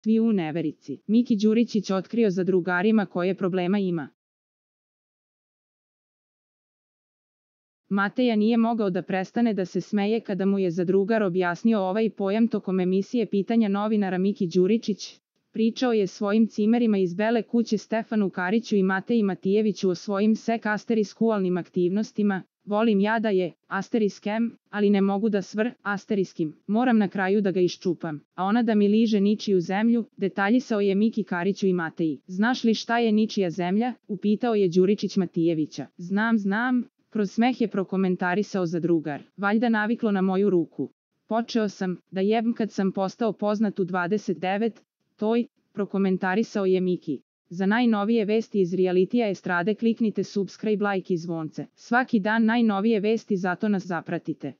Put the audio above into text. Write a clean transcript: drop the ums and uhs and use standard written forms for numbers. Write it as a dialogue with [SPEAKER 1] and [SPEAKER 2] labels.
[SPEAKER 1] Svi u neverici. Miki Đuričić otkrio za drugarima koje problema ima. Mateja nije mogao da prestane da se smeje kada mu je zadrugar objasnio ovaj pojam tokom emisije Pitanja novinara. Miki Đuričić pričao je svojim cimerima iz Bele kuće Stefanu Kariću i Mateji Matijeviću o svojim sekualnim aktivnostima. Volim ja da je ***, ali ne mogu da moram na kraju da ga iščupam, a ona da mi liže ničiju zemlju, detaljisao je Miki Kariću i Mateji. Znaš li šta je ničija zemlja? Upitao je Đuričić Matijevića. Znam, kroz smeh je prokomentarisao zadrugar. Valjda naviklo na moju ruku. Počeo sam da jebem kad sam postao poznat u 29, prokomentarisao je Miki. Za najnovije vesti iz realitija estrade kliknite subscribe, like i zvonce. Svaki dan najnovije vesti, zato nas zapratite.